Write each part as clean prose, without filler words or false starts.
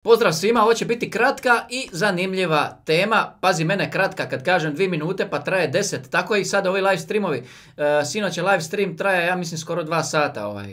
Pozdrav svima, ovo će biti kratka i zanimljiva tema. Pazi mene, kratka kad kažem 2 minute pa traje 10. Tako i sad ovi live streamovi. Sinoć je live stream, traje ja mislim skoro 2 sata.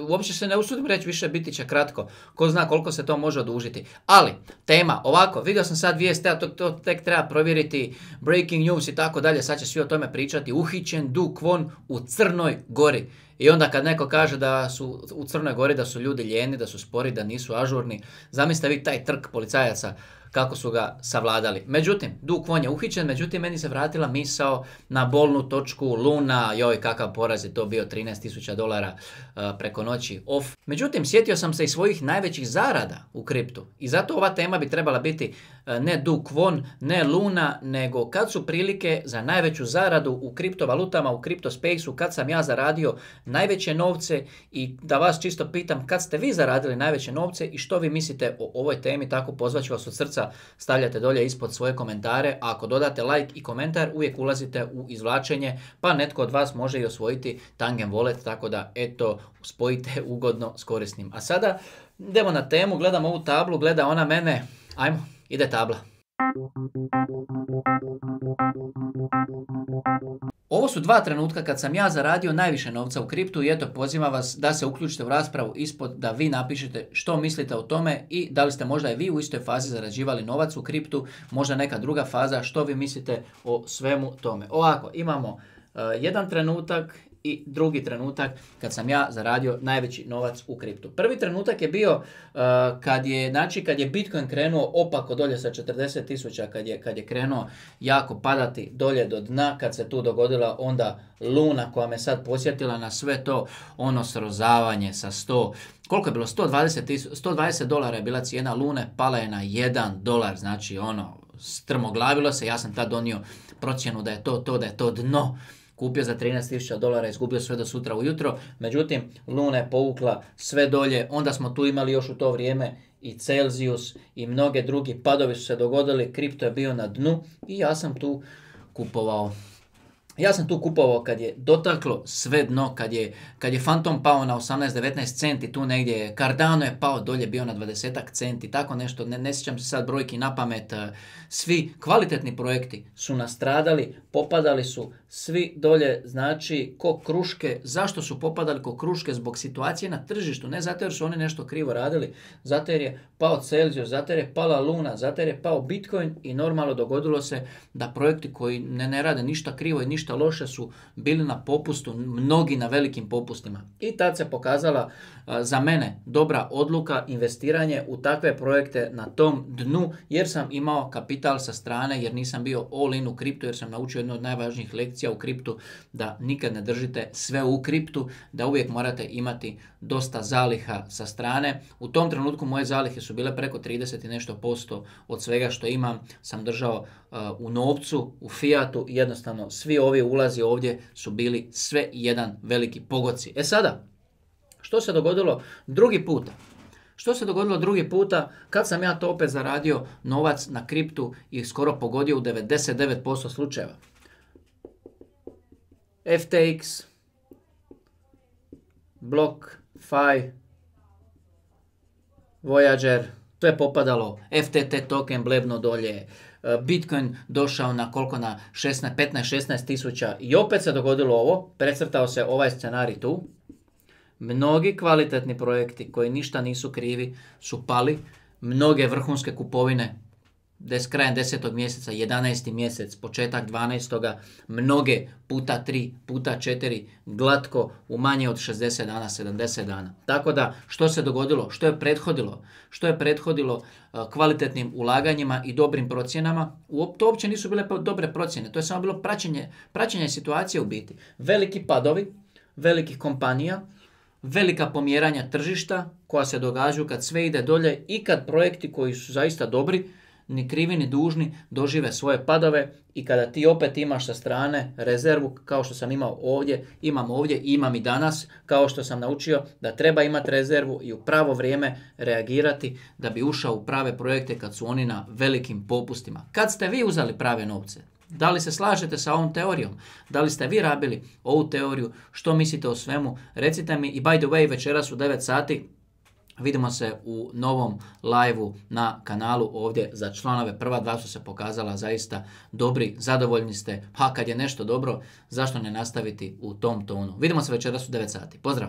Uopće se ne usudim reći, više biti će kratko. Ko zna koliko se to može odužiti. Ali, tema, ovako, vidio sam sad vijest, to tek treba provjeriti, breaking news i tako dalje, sad će svi o tome pričati. Uhićen Du Kwon u Crnoj Gori. I onda kad neko kaže da su u Crnoj Gori, da su ljudi lijeni, da su spori, da nisu ažurni, zamislite vi taj trk policajaca kako su ga savladali. Međutim, Du Kwon je uhićen, međutim meni se vratila misao na bolnu točku Luna, joj kakav poraz je to bio, $13,000 preko noći off. Međutim, sjetio sam se i svojih najvećih zarada u kriptu i zato ova tema bi trebala biti ne Du Kwon, ne Luna, nego kad su prilike za najveću zaradu u kriptovalutama, u kriptospaceu, kad sam ja zaradio najveće novce i da vas čisto pitam kad ste vi zaradili najveće novce i što vi mislite o ovoj temi, tako pozvaću vas od srca. Stavljate dolje ispod svoje komentare, a ako dodate like i komentar uvijek ulazite u izvlačenje, pa netko od vas može i osvojiti Tangen Wallet, tako da eto, spojite ugodno s korisnim. A sada idemo na temu, gledam ovu tablu, gleda ona mene, ajmo, ide tabla. Ovo su 2 trenutka kad sam ja zaradio najviše novca u kriptu i eto pozivam vas da se uključite u raspravu ispod, da vi napišete što mislite o tome i da li ste možda i vi u istoj fazi zarađivali novac u kriptu, možda neka druga faza, što vi mislite o svemu tome. Ovako, imamo jedan trenutak i drugi trenutak kad sam ja zaradio najveći novac u kriptu. Prvi trenutak je bio kad je Bitcoin krenuo opako dolje sa 40.000, kad je krenuo jako padati dolje do dna, kad se tu dogodila onda Luna koja me sad posjetila na sve to, ono srozavanje sa 100, koliko je bilo, $120 je bila cijena Lune, pala je na $1, znači ono, strmoglavilo se, ja sam tad donio procjenu da je da je to dno. Kupio za $13,000, izgubio sve do sutra ujutro, međutim Luna je povukla sve dolje, onda smo tu imali još u to vrijeme i Celsius i mnoge drugi padovi su se dogodili, kripto je bio na dnu i ja sam tu kupovao. Kad je dotaklo sve dno, kad je Phantom pao na 18-19 centi, tu negdje Cardano je pao dolje, bio na 20 centi, tako nešto, ne sjećam se sad brojki na pamet. Svi kvalitetni projekti su nastradali, popadali su svi dolje, znači ko kruške. Zašto su popadali ko kruške? Zbog situacije na tržištu, ne zato jer su oni nešto krivo radili, zato jer je pao Celsius, zato jer je pala Luna, zato jer je pao Bitcoin i normalno dogodilo se da projekti koji ne rade ništa krivo i ništa loše su bili na popustu, mnogi na velikim popustima. I tad se pokazala za mene dobra odluka, investiranje u takve projekte na tom dnu, jer sam imao kapital sa strane, jer nisam bio all in u kriptu, jer sam naučio jednu od najvažnijih lekcija u kriptu, da nikad ne držite sve u kriptu, da uvijek morate imati dosta zaliha sa strane. U tom trenutku moje zalihe su bile preko 30 i nešto posto od svega što imam, sam držao u novcu, u fiatu i jednostavno svi ovi ulazi ovdje su bili sve jedan veliki pogodci. E sada, što se dogodilo drugi puta? Što se dogodilo drugi puta kad sam ja to opet zaradio novac na kriptu i skoro pogodio u 99% slučajeva? FTX, BlockFi, Voyager, to je popadalo, FTT token blebno dolje, Bitcoin došao na koliko, na 15-16 tisuća i opet se dogodilo ovo, precrtao se ovaj scenarij tu. Mnogi kvalitetni projekti koji ništa nisu krivi su pali, mnoge vrhunske kupovine, krajem 10. mjeseca, 11. mjesec, početak 12. mnoge puta 3, puta 4, glatko u manje od 60 dana, 70 dana. Tako da, što se dogodilo? Što je prethodilo? Što je prethodilo kvalitetnim ulaganjima i dobrim procjenama? To uopće nisu bile dobre procjene, to je samo bilo praćenje situacije u biti. Veliki padovi, velikih kompanija, velika pomjeranja tržišta koja se događaju kad sve ide dolje i kad projekti koji su zaista dobri, ni krivi ni dužni, dožive svoje padove i kada ti opet imaš sa strane rezervu, kao što sam imao ovdje, imam i danas, kao što sam naučio da treba imati rezervu i u pravo vrijeme reagirati da bi ušao u prave projekte kad su oni na velikim popustima. Kad ste vi uzeli prave novce? Da li se slažete sa ovom teorijom? Da li ste vi rabili ovu teoriju? Što mislite o svemu? Recite mi i by the way, večeras u 9 sati Vidimo se u novom live-u na kanalu ovdje za članove. Prva dva su se pokazala zaista dobri, zadovoljni ste. Pa kad je nešto dobro, zašto ne nastaviti u tom tonu? Vidimo se večeras u 9 sati. Pozdrav!